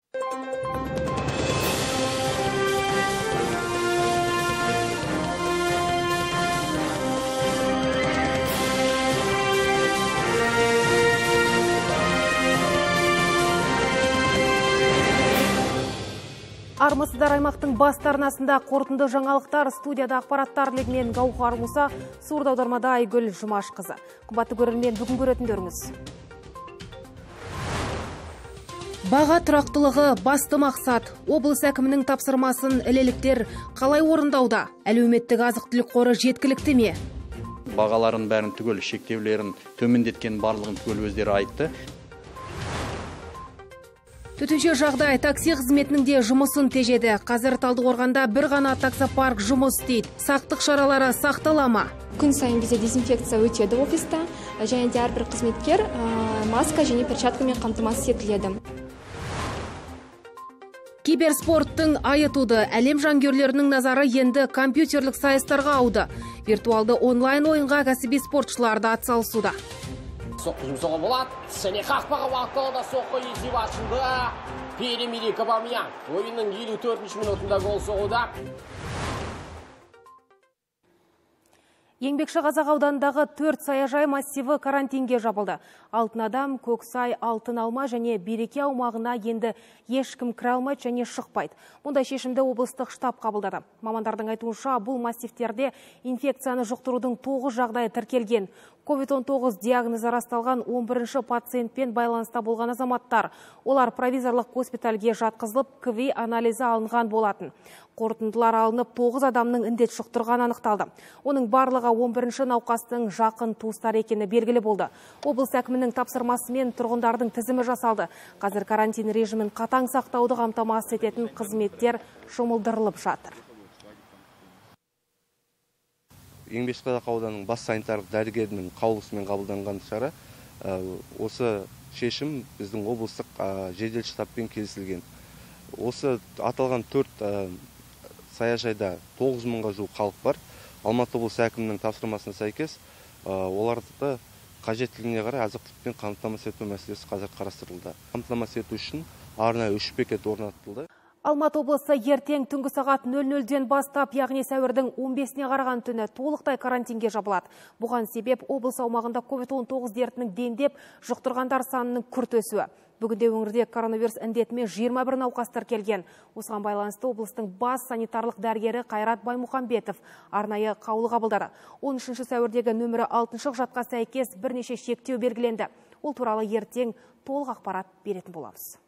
Армысыздар, аймақтың басты арнасында қорытынды жаңалықтар, студияда ақпараттар легінен Гауһар Мұса, сурда аудармада Айгүл Жұмашқызы. Қымбатты көрермен, бүгін көретіндеріңіз. Баға тұрақтылығы басты мақсат. Облыс әкімінің тапсырмасын ілеліктер қалай орындауда? Әлеуметтік азық-түлік қоры жеткілікті ме? Бағаларын бәрін түгел, шектеулерін төмендеткен барлығын түгел өздері айтты. Төтенше жағдай такси қызметінің де жұмысын тежеді. Қазір Талдықорғанда бір ғана таксопарк жұмыс істейді. Сақтық шаралары сақтала ма? Күн сайын бізде дезинфекция өтеді офиста, және де әрбір қызметкер маска және перчаткамен қамтамасыз етіледі. Киберспорттың айы туды. Әлем жанкүйерлерінің назары енді компьютерлік сайыстарға ауды. Виртуалды онлайн ойынға кәсіби спортшылар да атсалысуда. Соққы жұмсауға болады. Және қақпаға бағытталуда соққы есеп ашылды. Pierre-Emerick Aubameyang ойынның 54-ші минутында гол соғуда. Еңбекші Қазақ ауданындағы 4 саяжай массиві карантинге жабылды. Алтын адам, Көксай, Алтын алма және Береке аумағына енді ешкім кіре алмайды және шықпайды. Мұндай шешімді облыстық штаб қабылдады. Мамандардың айтуынша, бұл массивтерде инфекцияны жұқтырудың 9 жағдайы тіркелген. COVID-19 диагнозы расталған 11-ші пациентпен байланыста болған азаматтар. Олар провизорлық госпитальге жатқызылып, КВИ анализі алынған болатын. Қорытындылар алынып, 9 адамның індет жұқтырған анықталды. Оның барлығы 11-ші науқастың жақын туыстар екені белгілі болды. Облыс әкімінің тапсырмасымен тұрғындардың тізімі жасалды. Қазір карантин режимін қатаң сақтауды қамтамасыз ететін қызметтер жұмылдырылып жатыр. Еңбекші Қазақ ауданының бас санитарлық дәрігерінің қаулысымен қабылданған шара. Осы шешім біздің облыстық жедел штабпен келісілген. Осы аталған 4 саяжайда 9 мыңға жуық халық бар. Алматы облысы әкімінің тапсырмасына сәйкес оларды қажеттілігіне қарай азық-түлікпен қамтамасыз ету мәселесі қазір қарастырылды. Қамтамасыз ету үшін арнайы 3 бекет орнатылды. Алматы облысы ертең түнгі сағат 00-ден бастап, яғни сәуірдің 15-не қараған түні толықтай карантинге жабылады. Бұған себеп облыс аумағында COVID-19 дертінің дендеп, жұқтырғандар санының күрт өсуі. Бүгінде өңірде коронавирус індетімен 21 науқас тіркелген. Осыған байланысты облыстың бас санитарлық дәрігері Қайрат Баймұхамбетов арнайы қаулы қабылдады. 13 сәуірдегі нөмірі 6 құжатқа сәйкес бірнеше шектеу белгіленді. Ол туралы ертең толық ақпарат беретін боламыз.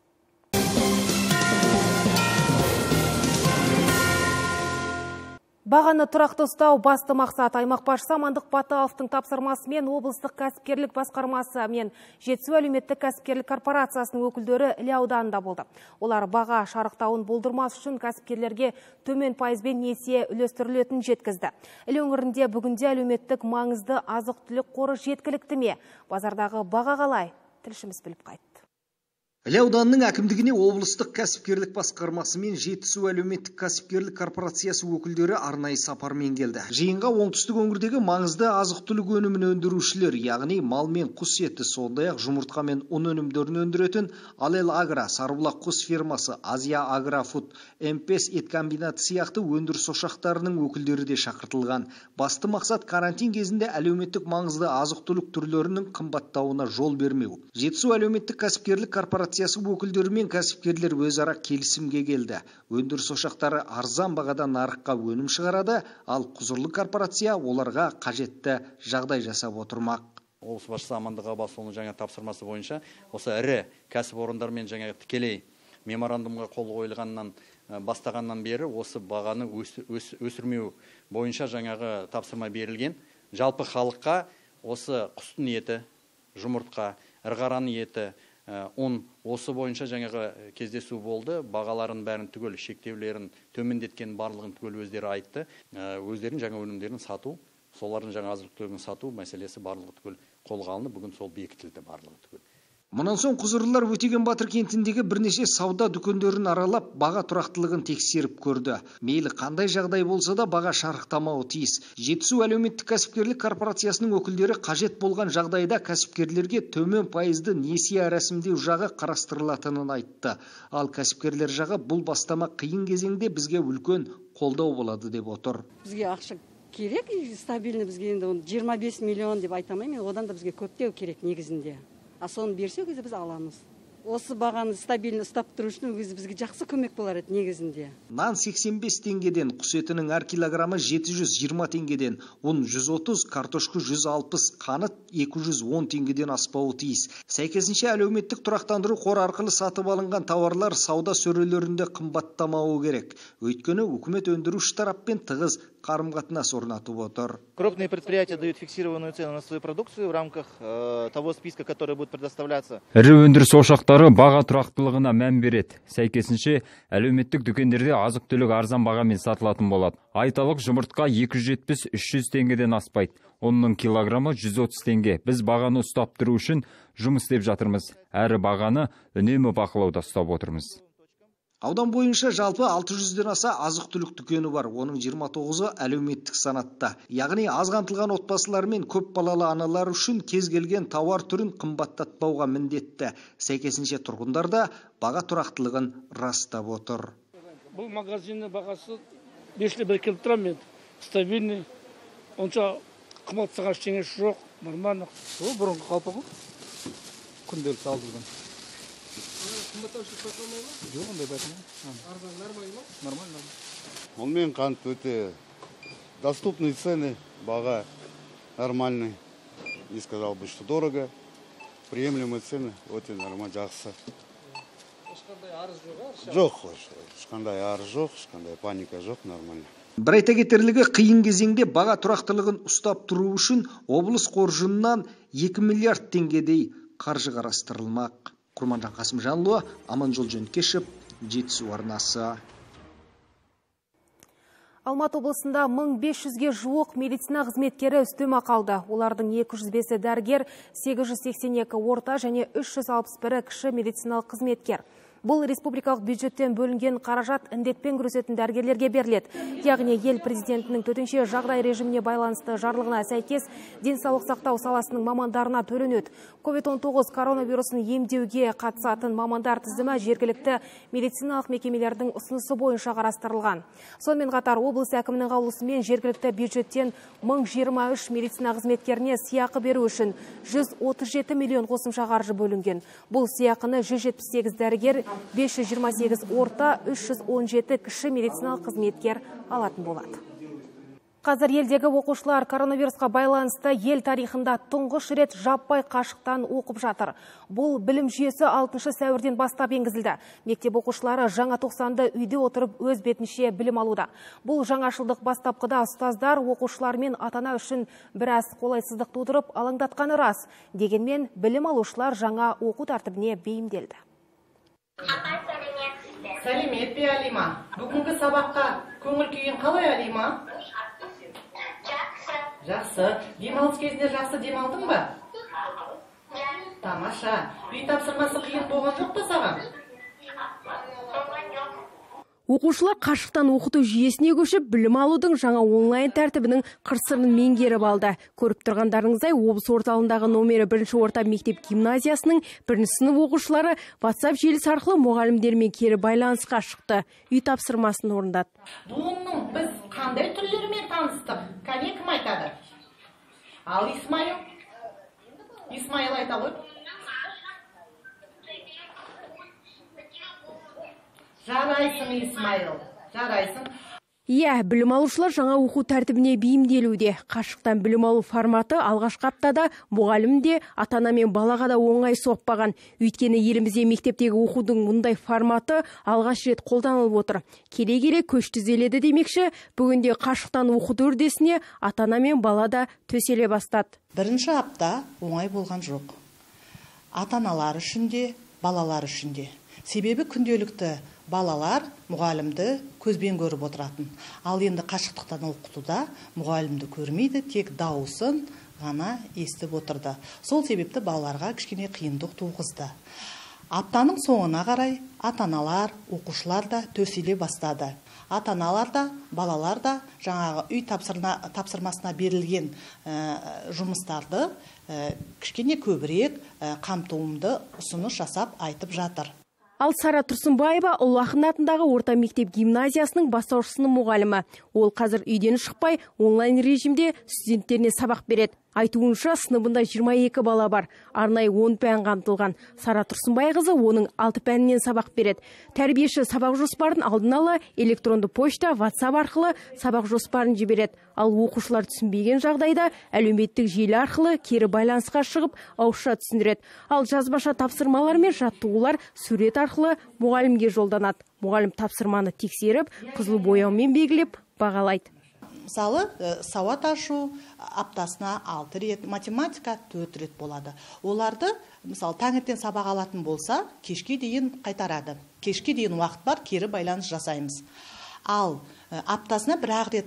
Бағаны тұрақты ұстау басты мақсат. Аймақ басшысы Амандық Баталовтың тапсырмасымен облыстық кәсіпкерлік басқармасы мен Жетісу әлеуметтік кәсіпкерлік корпорациясының өкілдері Іле ауданында болды. Олар баға шарықтауын болдырмас үшін кәсіпкерлерге төмен пайызбен несие үлестірілетінін жеткізді. Іле өңірінде бүгінде әлеуметтік маңызды азық-түлік қоры жеткілікті ме? Базардағы баға қалай? Тілшіміз біліп қайтты. Іле ауданының әкімдігіне облыстық кәсіпкерлік басқармасы мен Жетісу әлеуметтік кәсіпкерлік корпорациясы өкілдері арнайы сапармен келді. Жиынға оңтүстік өңірдегі маңызды азық-түлік өнімін өндірушілер, яғни мал мен құс еті, сондай-ақ жұмыртқа мен ұн өнімдерін өндіретін Алел Агра, Сарыбұлақ құс фермасы, Азия Агрофуд, М5 ет комбинаты сияқты өндіріс ошақтарының өкілдері де шақыртылған. Басты мақсат карантин кезінде әлеуметтік маңызды азық-түлік түрлерінің қымбаттауына жол бермеу. Жетісу әлеуметтік кәсіпкерлік корпорациясы өкілдері мен кәсіпкерлер өзара келісімге келді. Өндіріс ошақтары арзан бағада нарыққа өнім шығарады, ал құзырлы корпорация оларға қажетті жағдай жасап отырмақ. Облыс басшысы Амандық Баталовтың жаңа тапсырмасы бойынша осы ірі кәсіпорындармен жаңа тікелей меморандумға қол қойылғаннан бастағаннан бері осы бағаны өсірмеу бойынша жаңағы тапсырма берілген. Жалпы халыққа осы құстың еті, жұмыртқа, ірғараның еті, ұн осы бойынша жаңағы кездесу болды. Бағаларын бәрін түгел, шектеулерін төмендеткен барлығын түгел өздері айтты. Өздерінің жаңа өнімдерін сату, солардың жаңа азық-түлігін сату мәселесі барлығы түгел қолға алынып, бүгін сол бекітілді барлығы түгел. Мұнан соң құзырлылар Өтеген Батыр кентіндегі бірнеше сауда дүкендерін аралап, баға тұрақтылығын тексеріп көрді. Мейлі қандай жағдай болса да баға шарықтамауы тиіс. Жетісу әлеуметтік кәсіпкерлік корпорациясының өкілдері қажет болған жағдайда кәсіпкерлерге төмен пайызды несие рәсімдеу жағы қарастырылатынын айтты. Ал кәсіпкерлер жағы бұл бастама қиын кезеңде бізге үлкен қолдау болады деп отыр. Бізге ақша керек, стабильный, бізге енді 25 миллион деп айтамаймын, одан да бізге көптеу керек негізінде. Соны берсе өзі біз аламыз. Осы бағаны стабильный ұстап тұру үшін өзі бізге жақсы көмек болар еді негізінде. Нан 85 теңгеден, құс етінің әр килограммы 720 теңгеден, ұн 130, картошка 160, қант 210 теңгеден аспауы тиіс. Сәйкесінше әлеуметтік тұрақтандыру қоры арқылы сатып алынған тауарлар сауда сөрелерінде қымбаттамауы керек. Өйткені үкімет өндіруші тараппен тығыз қарым-қатынас орнатып отыр. Крупные предприятия дают фиксированную цену на свою продукцию в рамках того списка, который будет предоставляться. Ірі өндіріс ошақтары баға тұрақтылығына мән береді. Сәйкесінше әлеуметтік дүкендерде азық-түлік арзан бағамен сатылатын болады. Айталық жұмыртқа 270-300 теңгеден аспайды. Оның килограммы 130 теңге. Біз бағаны ұстап тұру үшін жұмыс істеп жатырмыз. Әрі бағаны үнемі бақылауда ұстап отырмыз. Аудан бойынша жалпы 600-ден аса азық-түлік дүкені бар. Оның 29-ы әлеуметтік санатта. Яғни аз қамтылған отбасылар мен көп балалы аналар үшін кез келген тауар түрін қымбаттатпауға міндетті. Сәйкесінше тұрғындар да баға тұрақтылығын растап отыр. Бұл магазиннің бағасы 5 бір келіп тұрам мен. Стабильный. Онша қымбатсыға ештеңе жоқ, нормально. Ол бұрынғы қалпы ғой. Күнделікті алдырған. Жоқ, ондай бәтіне. Арзан нормально ма? Нормально. Онымен қант өте доступные цены, баға нормальный. Не сказал бы, что дорого. Приемлемые цены, өте нормально, жақсы. Ешқандай арыз жоқ? Жоқ, ешқандай арыз жоқ, ешқандай паника жоқ, нормально. Бір айта кетерлігі, қиын кезеңде баға тұрақтылығын ұстап тұру үшін облыс қоржынынан 2 миллиард теңгедей қаржы қарастырылмақ. Құрманжан Қасымжанұлы, Аманжол Жөнкешев, Жетісу арнасы. Алматы облысында 1500-ге жуық медицина қызметкері үстемақы алды. Олардың 205-і дәрігер, 882 орта және 361 кіші медициналық қызметкер. Бұл республикалық бюджеттен бөлінген қаражат індетпен күресетін дәрігерлерге беріледі. Яғни ел президентінің төтенше жағдай режиміне байланысты жарлығына сәйкес денсаулық сақтау саласының мамандарына төленеді. COVID-19 коронавирусын емдеуге қатысатын мамандар тізімі жергілікті медициналық мекемелердің ұсынысы бойынша қарастырылған. Сонымен қатар облыс әкімінің қаулысымен жергілікті бюджеттен 1023 медицина қызметкеріне сыйақы беру үшін 137 миллион қосымша қаржы бөлінген. Бұл сыйақыны 178 дәрігер, 528 орта, 317 кіші медициналық қызметкер алатын болады. Қазір елдегі оқушылар коронавирусқа байланысты ел тарихында тұңғыш рет жаппай қашықтан оқып жатыр. Бұл білім жүйесі 6 сәуірден бастап енгізілді. Мектеп оқушылары жаңа тоқсанды үйде отырып өз бетінше білім алуда. Бұл жаңашылдық бастапқыда ұстаздар оқушылар мен ата-ана үшін біраз қолайсыздық тудырып алаңдатқаны рас. Дегенмен білім алушылар жаңа оқу тәртібіне бейімделді. Сәлемет пе, Алима? Бүгінгі сабаққа көңіл күйін қалай, Алима? Жақсы. Демалыс кезінде жақсы демалдың ба? Тамаша. Үй тапсырмасы қиын болған жоқ па саған? Оқушылар қашықтан оқыту жүйесіне көшіп, білім алудың жаңа онлайн тәртібінің қыр-сырын меңгеріп алды. Көріп тұрғандарыңыздай, облыс орталығындағы номері 1-ші орта мектеп гимназиясының 1-ші сынып оқушылары WhatsApp желісі арқылы мұғалімдермен кері байланысқа шықты. Үй тапсырмасын орындады. Бұның біз қандай түрлерімен таныстық? Кәне кім айтады? Ал Исмаил? Исмаил айта ғой. Жарайсың, Исмаил, жарайсың. Иә, білім алушылар жаңа оқу тәртібіне бейімделуде. Қашықтан білім алу форматы алғашқы аптада мұғалім де, ата-ана мен балаға да оңай соқпаған. Өйткені елімізде мектептегі оқудың мұндай форматы алғаш рет қолданылып отыр. Келе-келе көш түзеледі демекші, бүгінде қашықтан оқыту үрдісіне ата-ана мен бала да төселе бастады. Бірінші апта оңай болған жоқ. Ата-аналар үшін де, балалар үшін де. Себебі күнделікті балалар мұғалімді көзбен көріп отыратын. Ал енді қашықтықтан оқытуда мұғалімді көрмейді, тек дауысын, ғана естіп отырды. Сол себепті балаларға кішкене қиындық туғызды. Аптаның соңына қарай ата-аналар, оқушылар да төселе бастады. Ата-аналар да, балалар да жаңағы үй тапсырмасына берілген жұмыстарды кішкене көбірек қамтуымды ұсыныс жасап айтып жатыр. Ал Сара Тұрсынбаева Ұлы Ақын атындағы орта мектеп гимназиясының бастауыш сынып мұғалімі. Ол қазір үйден шықпай онлайн режимде студенттеріне сабақ береді. Айтуынша сыныбында 22 бала бар. Арнайы 10 пән қамтылған. Сара Тұрсынбайқызы оның 6 пәнінен сабақ береді. Тәрбиеші сабақ жоспарын алдын ала электронды почта, WhatsApp арқылы сабақ жоспарын жібереді. Ал оқушылар түсінбеген жағдайда әлеуметтік желі арқылы кері байланысқа шығып ауызша түсіндіреді. Ал жазбаша тапсырмалар мен жаттығулар сурет арқылы мұғалімге жолданады. Мұғалім тапсырманы тексеріп, қызыл бояумен белгілеп бағалайды. Мысалы, сауат ашу аптасына 6 рет, математика 4 рет болады. Оларды, мысалы, таңертең сабақ алатын болса, кешке дейін қайтарады. Кешке дейін уақыт бар, кері байланыс жасаймыз. Ал аптасына бір-ақ рет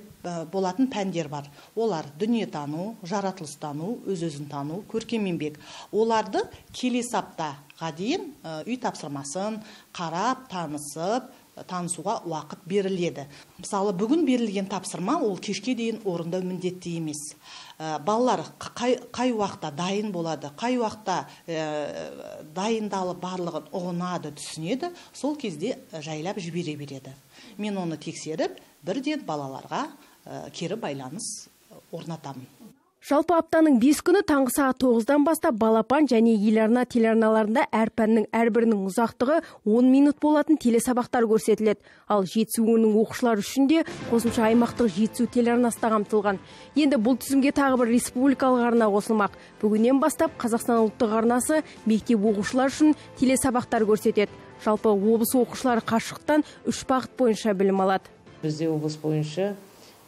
болатын пәндер бар. Олар дүниетану, жаратылыстану, өз-өзін тану, көркем еңбек. Оларды келесі аптаға дейін үй тапсырмасын қарап, танысуға уақыт беріледі. Мысалы, бүгін берілген тапсырма ол кешке дейін орындау міндетті емес. Балалар қай уақытта дайын болады, қай уақытта дайындалып барлығын ұғынады, түсінеді, сол кезде жайлап жібере береді. Мен оны тексеріп, бірден балаларға кері байланыс орнатамын. Жалпы аптаның 5 күні таңғы сағат 9-дан бастап балапан және еларна телеарналарында әр пәннің әрбірінің ұзақтығы 10 минут болатын телесабақтар көрсетіледі. Ал жетісу өңірінің оқушылары үшін де қосымша аймақтық жетісу телеарнасы да қамтылған. Енді бұл тізімге тағы бір республикалық арна қосылмақ. Бүгіннен бастап Қазақстан ұлттық арнасы мектеп оқушылары үшін телесабақтар көрсетеді. Жалпы облыс оқушылары қашықтан 3 бағыт бойынша білім алады. Бізде облыс бойынша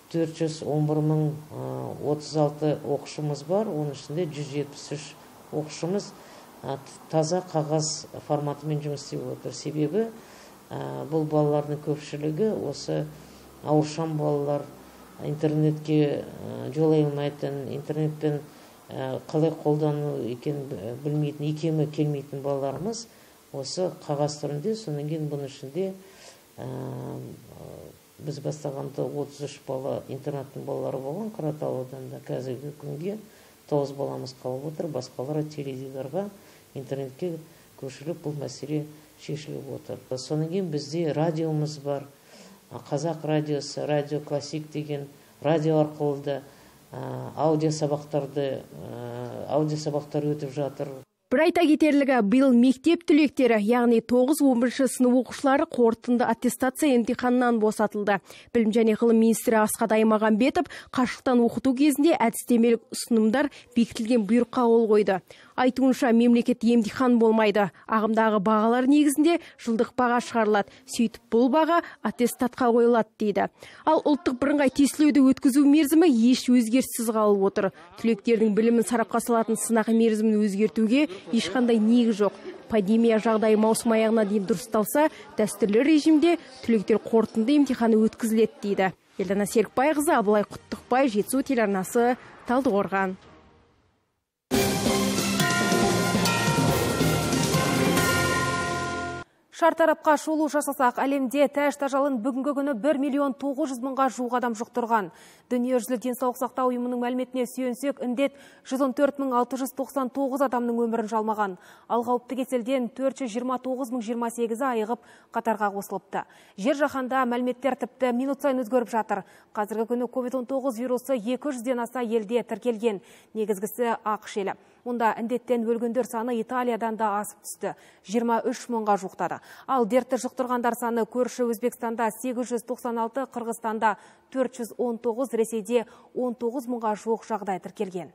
410.36 оқушымыз бар, оның ішінде 173 оқушымыз таза қағаз форматымен жұмыс істеп отыр. Себебі бұл балалардың көпшілігі осы ауыршан балалар, интернетке жолай алмайтын, интернетпен қалай қолдану екен білмейтін, икемі келмейтін балаларымыз осы қағаз түрінде. Содан кейін бұның ішінде біз бастағанда 33 бала интернаттың балалары болған Қаратау ауданында. Қазіргі күнге 9 баламыз қалып отыр, басқалары теледидарға, интернетке көшіріліп бұл мәселе шешіліп отыр. Содан кейін бізде радиомыз бар, Қазақ радиосы, радио классик деген радио арқылы да аудиосабақтар өтіп жатыр. Бір айта кетерлігі, биыл мектеп түлектері, яғни 9-11 сынып оқушылары қорытынды аттестация емтиханынан босатылды. Білім және ғылым министрі Асхат Аймағамбетов қашықтан оқыту кезінде әдістемелік ұсынымдар бекітілген бұйрыққа қол қойды. Айтуынша мемлекет емтихан болмайды. Ағымдағы бағалар негізінде жылдық баға шығарылады. Сөйтіп бұл баға аттестатқа қойылады дейді. Ал ұлттық бірыңғай тестілеуді өткізу мерзімі еш өзгеріссіз қалып отыр. Түлектердің білімін сарапқа салатын сынақ мерзімін өзгертуге ешқандай негіз жоқ. Пандемия жағдайы маусым аяғына дейін дұрысталса, дәстүрлі режимде түлектер қорытынды емтиханы өткізіледі дейді. Елдана Серікбайқызы, Абылай Құттықбай, Жетісу телеарнасы, Талдықорған. Шартарапқа шолу жасасақ, әлемде тәж тажалын бүгінгі күні 1.900.000-ға жуық адам жұқтырған. Дүниежүзілік денсаулық сақтау ұйымының мәліметіне сүйенсек, індет 114.699 адамның өмірін жалмаған. Ал қауіпті кеселден 429.028-і айығып қатарға қосылыпты. Жер жаһанда мәліметтер тіпті минут сайын өзгеріп жатыр. Қазіргі күні COVID-19 вирусы 200-ден аса елде тіркелген. Негізгісі ақш елі. Мұнда індеттен өлгендер саны Италиядан да асып түсті. 23.000-ға жуықтады. Ал дертті жұқтырғандар саны көрші Өзбекстанда 896, Қырғызстанда 419, Ресейде 19.000-ға жуық жағдай тіркелген.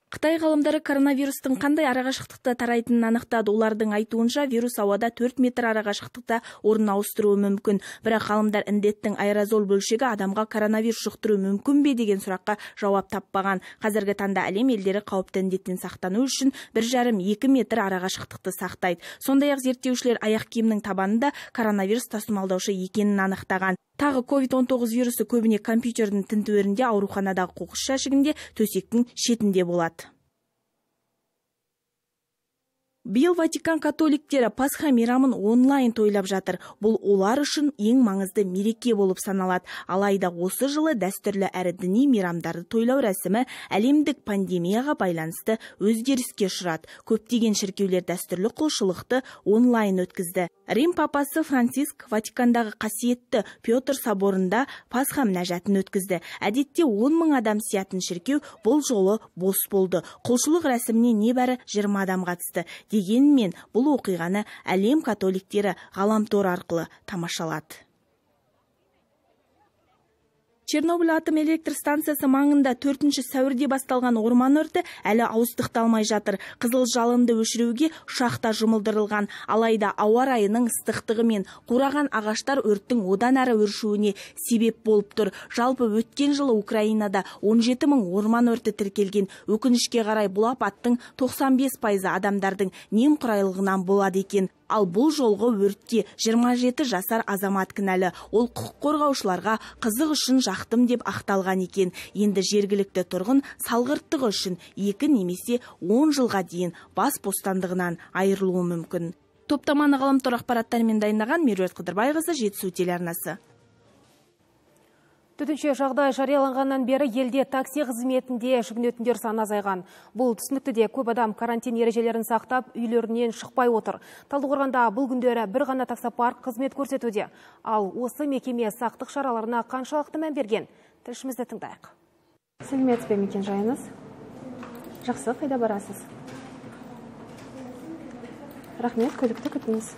Қытай ғалымдары коронавирустың қандай арақашықтықта тарайтынын анықтады. Олардың айтуынша вирус ауада 4 метр арақашықтықта орын ауыстыруы мүмкін. Бірақ ғалымдар індеттің аэрозол бөлшегі адамға коронавирус жұқтыруы мүмкін бе деген сұраққа жауап таппаған. Қазіргі таңда әлем елдері қауіпті індеттен сақтану үшін 1,5-2 метр арақашықтықты сақтайды. Сондай-ақ зерттеушілер аяқ киімнің табанында коронавирус тасымалдаушы екенін анықтаған. Тағы COVID-19 вирусы көбіне компьютердің тінтуірінде, ауруханадағы қоқыс жәшігінде, төсектің шетінде болады. Биыл Ватикан католиктері Пасха мейрамын онлайн тойлап жатыр. Бұл олар үшін ең маңызды мереке болып саналады. Алайда осы жылы дәстүрлі әрі діни мейрамдарды тойлау рәсімі әлемдік пандемияға байланысты өзгеріске ұшырады. Көптеген шіркеулер дәстүрлі құлшылықты онлайн өткізді. Рим папасы Франциск Ватикандағы қасиетті Петр соборында Пасха мінәжатын өткізді. Әдетте 10 мың адам сиятын шіркеу бұл жолы бос болды. Құлшылық рәсіміне небәрі 20 адам қатысты. Дегенмен бұл оқиғаны әлем католиктері ғаламтор арқылы тамашалады. Чернобыль атом электр станциясы маңында 4 сәуірде басталған орман өрті әлі ауыздықталмай жатыр. Қызыл жалынды өшіруге ұшақта жұмылдырылған. Алайда ауа райының ыстықтығы мен қураған ағаштар өрттің одан әрі өршуіне себеп болып тұр. Жалпы өткен жылы Украинада 17 мың орман өрті тіркелген. Өкінішке қарай бұл апаттың 95% адамдардың немқұрайлығынан болады екен. Ал бұл жолғы өртте 27 жасар азамат кінәлі. Ол құқық қорғаушыларға қызық үшін жақтым деп ақталған екен. Енді жергілікті тұрғын салғырттығы үшін 2 немесе 10 жылға дейін бас бостандығынан айырылуы мүмкін. Топтаманы ғаламтор ақпараттарымен дайындаған Меруерт Қыдырбайқызы, Жетісу телеарнасы. Төтенше жағдай жарияланғаннан бері елде такси қызметінде жүгінетіндер саны азайған. Бұл түсінікті де көп адам карантин ережелерін сақтап, үйлерінен шықпай отыр. Талдықорғанда бұл күндері бір ғана таксопарк қызмет көрсетуде. Ал осы мекеме сақтық шараларына қаншалықты мән берген? Тілшімізді тыңдайық. Сәлеметсіз бе, мекен жайыңыз? Жақсы, қайда барасыз? Рахмет, көлікті күтіңіз.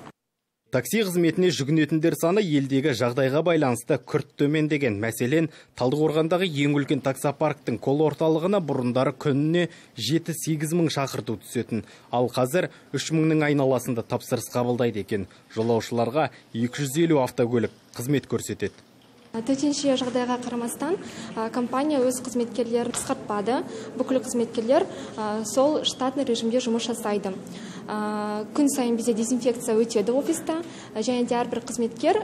Такси қызметіне жүгінетіндер саны елдегі жағдайға байланысты күрт төмендеген. Мәселен, Талдықорғандағы ең үлкен таксопарктың кол орталығына бұрындары күніне 7-8 мың шақырту түсетін. Ал қазір 3 мыңның айналасында тапсырыс қабылдайды екен. Жолаушыларға 250 автокөлік қызмет көрсетеді. Төтенше жағдайға қарамастан компания өз қызметкерлерін қысқартпады. Бүкіл қызметкерлер сол штатный режимде жұмыс жасайды. Күн сайын бізде дезинфекция өтеді офиста, және де әрбір қызметкер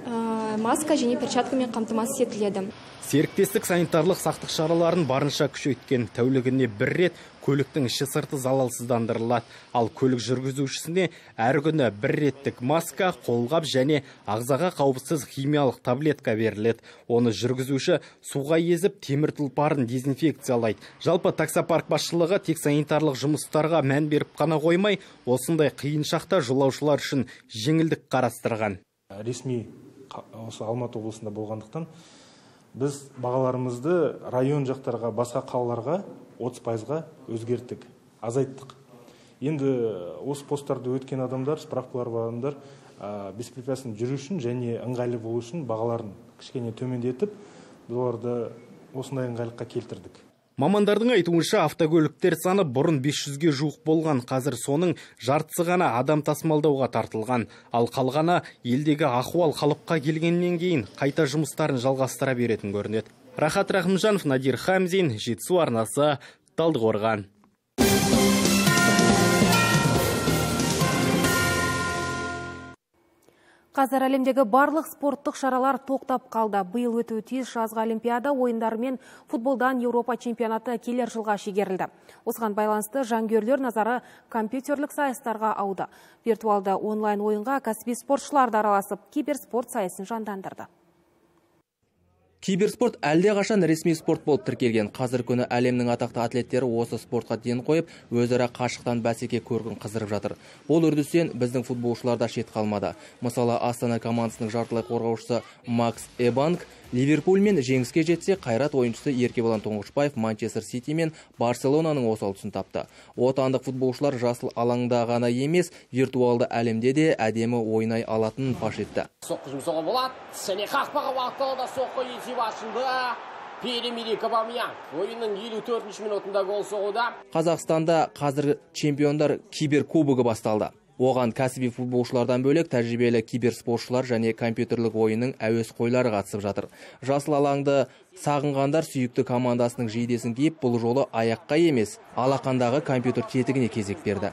маска және перчаткамен қамтамасыз етіледі. Серіктестік санитарлық сақтық шараларын барынша күшейткен. Тәулігіне бір рет көліктің іші сырты залалсыздандырылады. Ал көлік жүргізушісіне әр күні бір реттік маска, қолғап және ағзаға қауіпсіз химиялық таблетка беріледі. Оны жүргізуші суға езіп, темір тұлпарын дезинфекциялайды. Жалпы таксопарк басшылығы тек санитарлық жұмыстарға мән беріп қана қоймай, осындай қиын шақта жолаушылар үшін жеңілдік қарастырған. Ресми осы Алматы облысында болғандықтан біз бағаларымызды район жақтарға, басқа қалаларға 30%-ға өзгерттік, азайттық. Енді осы посттарды өткен адамдар, справкалар бар адамдар беспрепятственно жүру үшін және ыңғайлы болу үшін бағаларын кішкене төмендетіп, оларды осындай ыңғайлыққа келтірдік. Мамандардың айтуынша автокөліктер саны бұрын 500-ге жуық болған, қазір соның жартысы ғана адам тасымалдауға тартылған. Ал қалғаны елдегі ахуал қалыпқа келгеннен кейін қайта жұмыстарын жалғастыра беретін көрінеді. Рахат Рахымжанов, Надир Хамзин, Жетісу арнасы, Талдықорған. Қазір әлемдегі барлық спорттық шаралар тоқтап қалды. Биыл өтуі тиіс жазғы олимпиада ойындары мен футболдан Еуропа чемпионаты келер жылға шегерілді. Осыған байланысты жанкүйерлер назары компьютерлік сайыстарға ауды. Виртуалды онлайн ойынға кәсіби спортшылар да араласып, киберспорт сайысын жандандырды. Киберспорт әлде қашан ресми спорт болып тіркелген. Қазір күні әлемнің атақты атлеттері осы спортқа ден қойып, өзара қашықтан бәсеке көркін қыздырып жатыр. Бұл үрдістен біздің футболшылар да шет қалмады. Мысалы, Астана командасының жартылай қорғаушысы Макс Эбанг Ливерпульмен жеңіске жетсе, Қайрат ойыншысы Еркебұлан Тоңғышбаев Манчестер Сити мен Барселонаның осал тұсын тапты. Отандық футболшылар жасыл алаңда ғана емес, виртуалды әлемде де әдемі ойнай алатынын паш етті. Соққы жұмсауға болады. Сәне қақпаға уақытылы соққы есеп ашылды. Pierre-Emerick Aubameyang ойынның 54 минутында гол соғуда. Қазақстанда қазір чемпиондар киберкубогы басталды. Оған кәсіби футболшылардан бөлек тәжірибелі киберспортшылар және компьютерлік ойынның әуесқойлары қатысып жатыр. Жасыл алаңды сағынғандар сүйікті командасының жейдесін киіп, бұл жолы аяққа емес, алақандағы компьютер тетігіне кезек берді.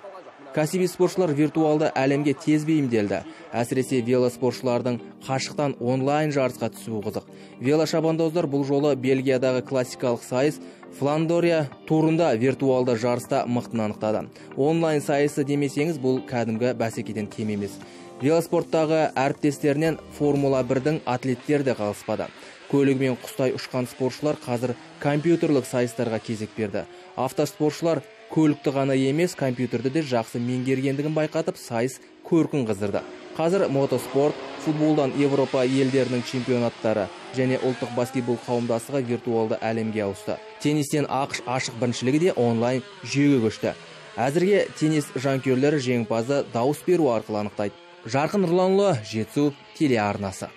Кәсіби спортшылар виртуалды әлемге тез бейімделді. Әсіресе велоспортшылардың қашықтан онлайн жарысқа түсуі қызық. Велошабандоздар бұл жолы Бельгиядағы классикалық сайыс Фландория турында виртуалды жарыста мықтын анықтады. Онлайн сайысы демесеңіз, бұл кәдімгі бәсекеден кем емес. Велоспорттағы әріптестерінен Формула 1-дің атлеттері де қалыспады. Көлігімен құстай ұшқан спортшылар қазір компьютерлік сайыстарға кезек берді. Автоспортшылар көлікті ғана емес, компьютерді де жақсы меңгергендігін байқатып, сайыс көркін қыздырды. Қазір мотоспорт, футболдан Европа елдерінің чемпионаттары және ұлттық баскетбол қауымдастығы виртуалды әлемге ауысты. Теннистен ақш ашық біріншілігі де онлайн жүйеге көшті. Әзірге теннис жанкүйерлері жеңімпазды дауыс беру арқылы анықтайды. Жарқын Нұрланұлы, Жетісу телеарнасы.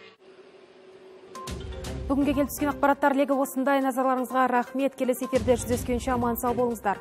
Бүгінге келіп түскен ақпараттар легі осындай. Назарларыңызға рахмет. Келесі эфирде жүздескенше аман сау болыңыздар.